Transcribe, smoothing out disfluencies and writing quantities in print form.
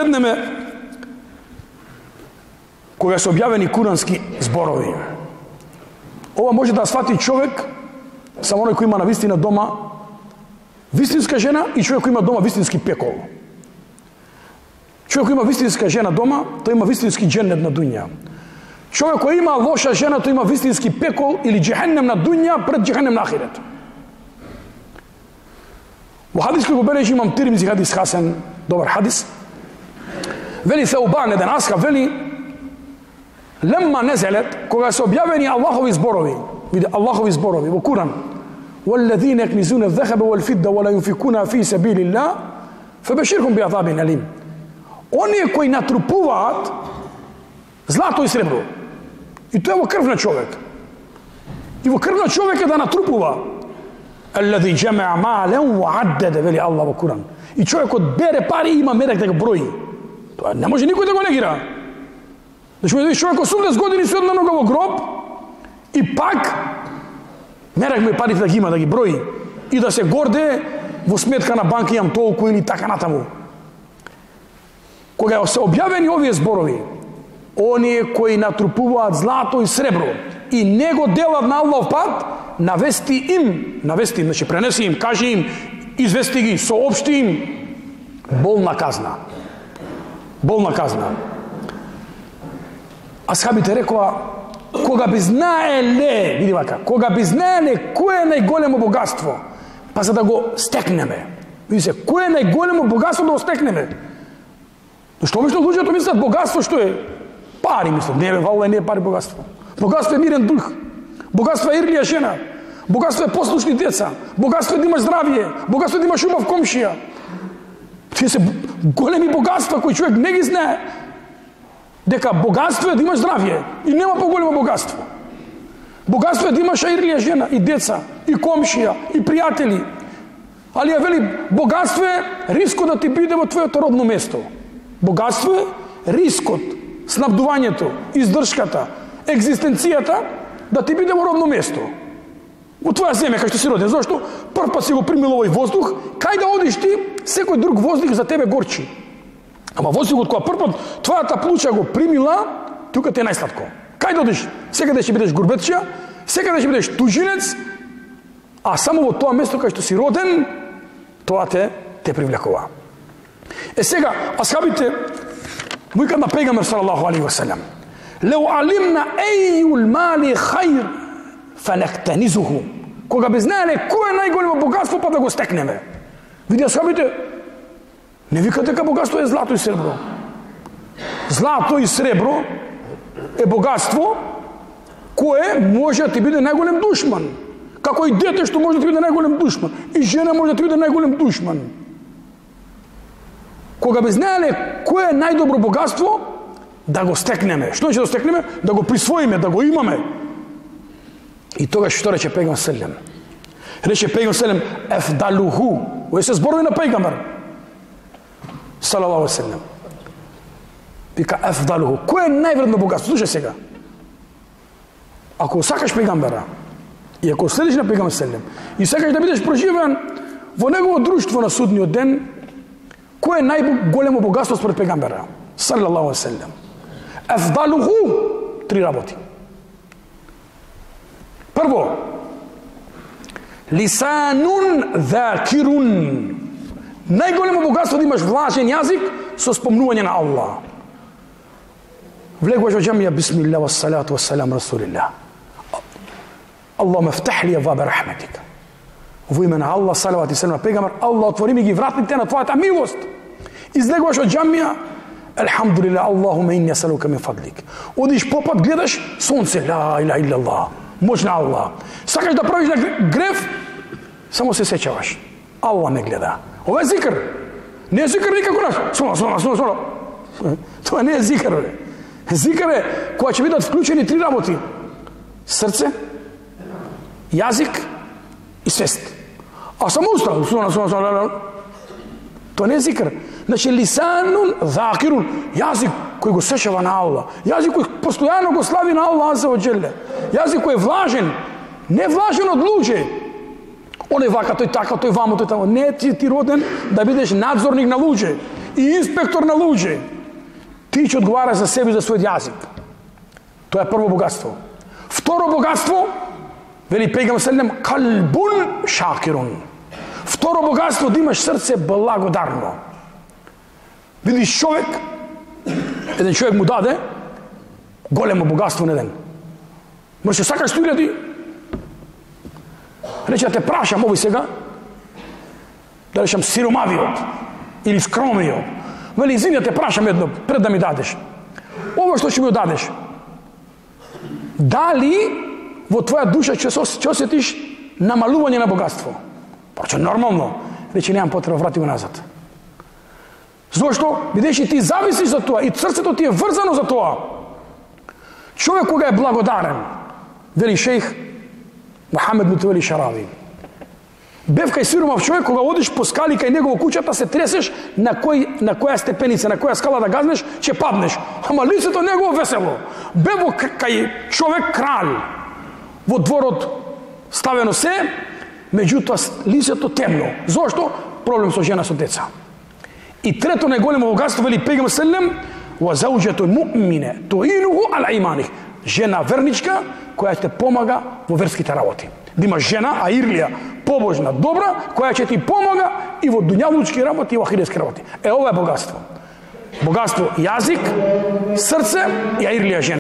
Седнеме кога се објавени курански зборови. Ова може да свати човек само оној кој има навистина дома вистинска жена и човек кој има дома вистински пекол. Човек кој има вистинска жена дома, тој има вистински џеннет на дуња. Човек кој има лоша жена, тој има вистински пекол или џехеннем на дуња пред џехеннем на ахирет. Во хадис кој го бележи имам Тирмизи, хадис хасен, добар хадис. Вели Саубан, еден асхаб, вели лемма незелет, кога се објавени Аллахови зборови, види Аллахови зборови во Куран, وَالَّذِينَ يَكْنِزُونَ الذَّهَبَ وَالْفِضَّةَ وَلَا يُنْفِقُونَ فِي سَبِيلِ اللَّهِ فَبَشِّرْهُم بِعَذَابٍ أَلِيمٍ. Оние кои натрупуваат злато и сребро, и тоа е во крв на човек. И во крв на човек е да натрупува. الَّذِي جَمَعَ مَالًا وَعَدَّدَ, вели Аллах во Куран. И човекот бере пари и има мерек да го брои. Тоа не може никој да го негира. Значи, видиш човек 80 години се одна нога во гроб и пак мерек ме парите да ги има, да ги брои и да се горде во сметка на банка имам толку или така натаму. Кога се објавени овие зборови, оние кои натрупуваат злато и сребро и не го делат на Аллахов пат, навести им, значи пренеси им, кажи им, извести ги, соопшти им болна казна. Болна казна. Асхабите рекоа, кога би знаеле, види вака, кога би знаеле кој е најголемо богатство, па за да го стекнеме. Види се, кој е најголемо богатство да го стекнеме? Што обично луѓето мислат богатство што е? Пари мислат. Не, валла не е пари богатство. Богатство е мирен дух. Богатство е ирлија жена. Богатство е послушни деца. Богатство е да имаш здравје. Богатство е да имаш убав комшија. Тие се големи богатства кои човек не ги знае. Дека богатство е да имаш здравје и нема поголемо богатство. Богатство е да имаш ирлија жена и деца и комшија и пријатели. Али ја вели богатство е рискот да ти биде во твоето родно место. Богатство е рискот, снабдувањето, издршката, екзистенцијата да ти биде во родно место. Во твоја земја кај што си роден, зашто прв пат си го примил овој воздух, кај да одиш ти, секој друг воздух за тебе горчи. Ама воздухот која прв пат твојата плуча го примила, тука те е најсладко. Кај да одиш, секаде ќе бидеш гурбетча, секаде ќе бидеш тужинец, а само во тоа место кај што си роден, тоа те привлекува. Сега, асхабите викаат на пегамбер салаллаху алейхи ва салам: "Лау алимна ајул мали хајр фанактанизуху." Кога би знаеле кој е најголемо богатство, па да го стекнеме. Види асхабите, не викат дека богатство е злато и сребро. Злато и сребро е богатство кое може да ти биде најголем душман. Како и дете што може да ти биде најголем душман. И жена може да ти биде најголем душман. Кога би знаеле кое е најдобро богатство, да го стекнеме. Што ќе да стекнеме? Да го присвоиме, да го имаме. И тогаш што рече пегамбер селем? Рече пегамбер селем: "Ефдалуху." Ој се зборови на пегамбер салаллаху алейхи ва салем. Вика ефдалуху. Кој е највредно богатство? Слушај сега. Ако сакаш пегамбера и ако следиш на пегамбер селем и сакаш да бидеш проживеан во негово друштво на судниот ден, кој е најголемо богатство според пегамбера салаллаху алейхи ва салем? Ефдалуху, 3 работи. Прво, лисанун закирун. Најголемо богатство да имаш влажен јазик со спомнување на Аллах. Влегуваш во џамија, бисмилlah ва салату ва салам расулилlah. Аллахуме фтах ли абваба рахметика. Во име на Аллах, салават и селам на пегамбер, Аллах отвори ми ги вратите на твојата милост. Излегуваш од џамија, елхамдулилlah, Аллахуме инни асалука мин фадлик. Одиш попат, гледаш сонце, ла илаха илlallah. Моќ на Аллах. Сакаш да правиш греф, само се сеќаваш. Аллах не гледа. Ова е зикр. Не е зикр никако наш. Сона. Тоа не е зикр. Зикр е кога ќе бидат вклучени 3 работи. Срце, јазик и свест. А само уста. Сона. Тоа не е зикр. Значи, лисанун закирун. Јазик кој го сеќава на Аллах. Јазик кој постојано го слави на Аллах азza wa jalla. Јазик кој е влажен. Не влажен од луѓе. Оне вака, тој така, тој вамо, тој тамо. Не ти роден да бидеш надзорник на луѓе. и инспектор на луѓе, ти ќе одговараш за себе и за својот јазик. Тоа е прво богатство. Второ богатство, вели пегам селем, калбун шакирун. Второ богатство, да имаш срце благодарно. Видиш човек, еден човек му даде големо богатство на ден. Може сакаш 100.000, рече да те прашам овој сега, да речам сиромавиот или скромиот. Вели, извини, да те прашам едно, пред да ми дадеш. Ово што ќе ми дадеш, дали во твоја душа ќе осетиш намалување на богатство? Пораче нормално, рече немам потреба, врати го назад. Зошто? Бидејќи ти зависиш за тоа и срцето ти е врзано за тоа. Човек кога е благодарен, вели шејх Мухамед Мутавели Шарави, бев кај сиромав човек, кога одиш по скали кај негово куќата, се тресеш на која степеница, на која скала да газнеш, ќе паднеш. Ама лицето негово весело. Бев кај човек краль, во дворот ставено се, меѓутоа лицето темно. Зошто? Проблем со жена, со деца. И трето најголемо богатство, вели пегам селем, ва зауџету муъмине туинуху ала иманих. Жена верничка која ќе помага во верските работи. Да имаш жена, аирлија, побожна, добра, која ќе ти помага и во дуњавлучки работи и во ахиретски работи. Ова е богатство. Богатство јазик, срце и аирлија жена.